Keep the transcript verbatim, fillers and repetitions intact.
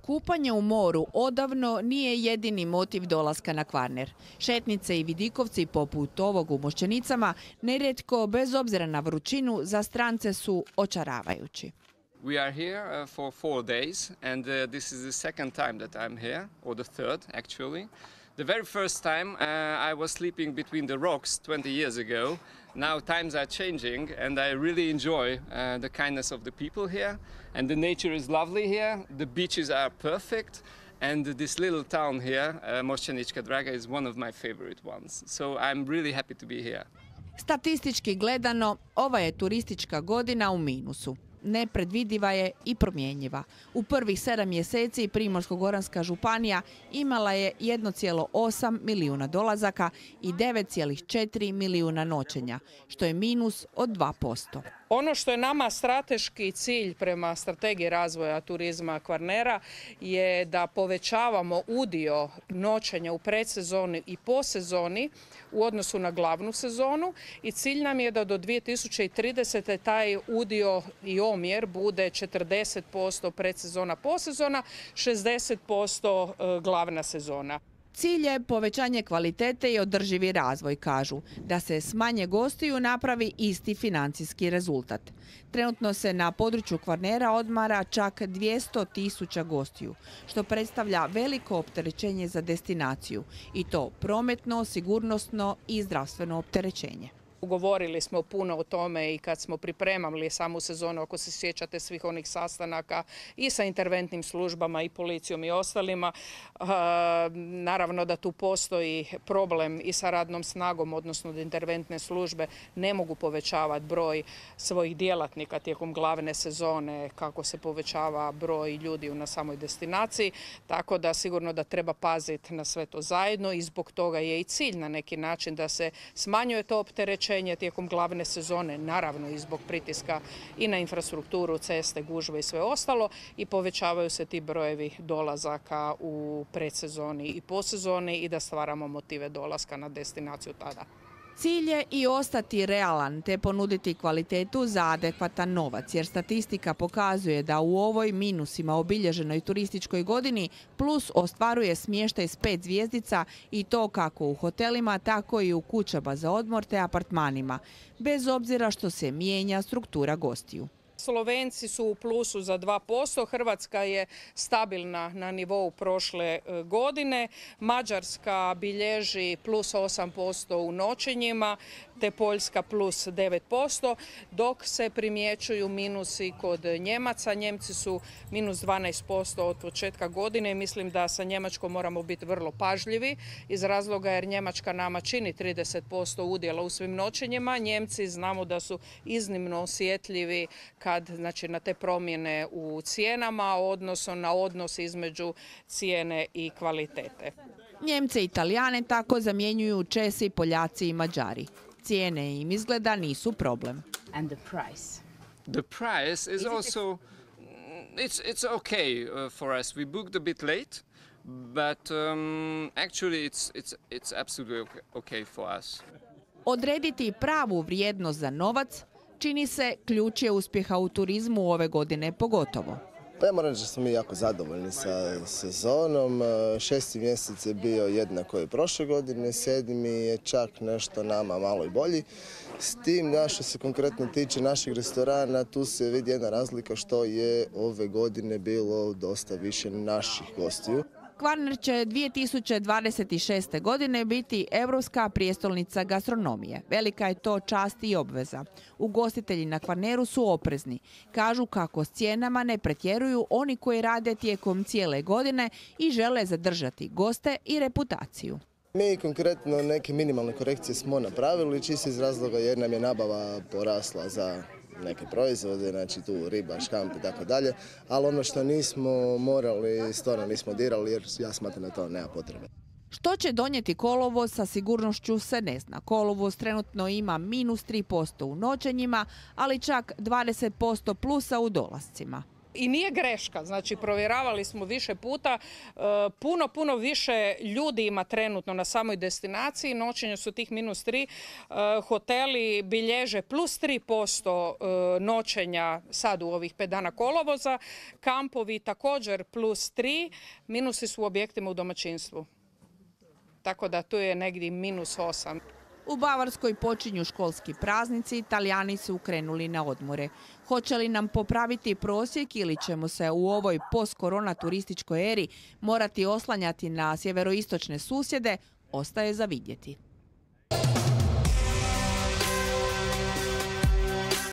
Kupanje u moru odavno nije jedini motiv dolaska na Kvarner. Šetnice i vidikovci poput ovog u Mošćenicama nerijetko, bez obzira na vrućinu, za strance su očaravajući. We are here uh, for four days and uh, this is the second time that I'm here, or the third actually. The very first time uh, I was sleeping between the rocks twenty years ago. Now times are changing and I really enjoy uh, the kindness of the people here, and the nature is lovely here. The beaches are perfect and this little town here, uh, Mošćenička Draga, is one of my favorite ones. So I'm really happy to be here. Statistički gledano, ova je turistička godina u minusu. Nepredvidiva je i promjenjiva. U prvih sedam mjeseci Primorsko-goranska županija imala je jedan zarez osam milijuna dolazaka i devet zarez četiri milijuna noćenja, što je minus od dva posto. Ono što je nama strateški cilj prema strategiji razvoja turizma Kvarnera je da povećavamo udio noćenja u predsezoni i posezoni u odnosu na glavnu sezonu, i cilj nam je da do dvije tisuće tridesete. taj udio i omjer bude četrdeset posto predsezona posezona, šezdeset posto glavna sezona. Cilj je povećanje kvalitete i održivi razvoj, kažu. Da se s manje gostiju napravi isti financijski rezultat. Trenutno se na području Kvarnera odmara čak dvjesto tisuća gostiju, što predstavlja veliko opterećenje za destinaciju, i to prometno, sigurnosno i zdravstveno opterećenje. Govorili smo puno o tome i kad smo pripremali samu sezonu, ako se sjećate svih onih sastanaka i sa interventnim službama i policijom i ostalima. Naravno da tu postoji problem i sa radnom snagom, odnosno da interventne službe ne mogu povećavati broj svojih djelatnika tijekom glavne sezone kako se povećava broj ljudi na samoj destinaciji. Tako da sigurno da treba paziti na sve to zajedno, i zbog toga je i cilj na neki način da se smanjuje to opterećenje tijekom glavne sezone, naravno i zbog pritiska i na infrastrukturu, ceste, gužve i sve ostalo, i povećavaju se ti brojevi dolazaka u predsezoni i posezoni i da stvaramo motive dolaska na destinaciju tada. Cilj je i ostati realan te ponuditi kvalitetu za adekvatan novac, jer statistika pokazuje da u ovoj minusima obilježenoj turističkoj godini plus ostvaruje smještaj s pet zvjezdica, i to kako u hotelima, tako i u kućama za odmor te apartmanima, bez obzira što se mijenja struktura gostiju. Slovenci su u plusu za dva posto, Hrvatska je stabilna na nivou prošle godine, Mađarska bilježi plus osam posto u noćenjima, te Poljska plus devet posto, dok se primjećuju minusi kod Njemaca. Njemci su minus dvanaest posto od početka godine, i mislim da sa Njemačkom moramo biti vrlo pažljivi iz razloga jer Njemačka nama čini trideset posto udjela u svim noćenjima. Njemci znamo da su iznimno osjetljivi kad, znači, na te promjene u cijenama, odnosno na odnos između cijene i kvalitete. Njemce i Italijane tako zamjenjuju Česi, Poljaci i Mađari. Cijene im izgleda nisu problem. And the price? The price is also, it's, it's okay uh, for us. We booked a bit late, but um, actually it's, it's, it's absolutely okay for us. Odrediti pravu vrijednost za novac čini se ključ je uspjeha u turizmu ove godine pogotovo. Pa ja moram reći da smo mi jako zadovoljni sa sezonom. Šesti mjesec je bio jednako i prošle godine, sedmi je čak nešto nama malo i bolji. S tim, da što se konkretno tiče naših restorana, tu se vidi jedna razlika što je ove godine bilo dosta više naših gostiju. Kvarner će dvije tisuće dvadeset šeste. godine biti europska prijestolnica gastronomije. Velika je to čast i obveza. Ugostitelji na Kvarneru su oprezni. Kažu kako s cijenama ne pretjeruju oni koji rade tijekom cijele godine i žele zadržati goste i reputaciju. Mi konkretno neke minimalne korekcije smo napravili, čisto iz razloga jer nam je nabava porasla za neke proizvode, znači tu riba, škamp i tako dalje, ali ono što nismo morali, stvarno nismo dirali, jer ja smatram da to nema potrebe. Što će donijeti kolovoz sa sigurnošću se ne zna. Kolovoz trenutno ima minus tri posto u noćenjima, ali čak dvadeset posto plusa u dolascima. I nije greška, znači provjeravali smo više puta, puno, puno više ljudi ima trenutno na samoj destinaciji, noćenja su tih minus tri, hoteli bilježe plus tri posto noćenja sad u ovih pet dana kolovoza, kampovi također plus tri, minusi su u objektima u domaćinstvu. Tako da tu je negdje minus osam. U Bavarskoj počinju školski praznici, Italijani su krenuli na odmore. Hoće li nam popraviti prosjek ili ćemo se u ovoj post-korona turističkoj eri morati oslanjati na sjeveroistočne susjede, ostaje za vidjeti.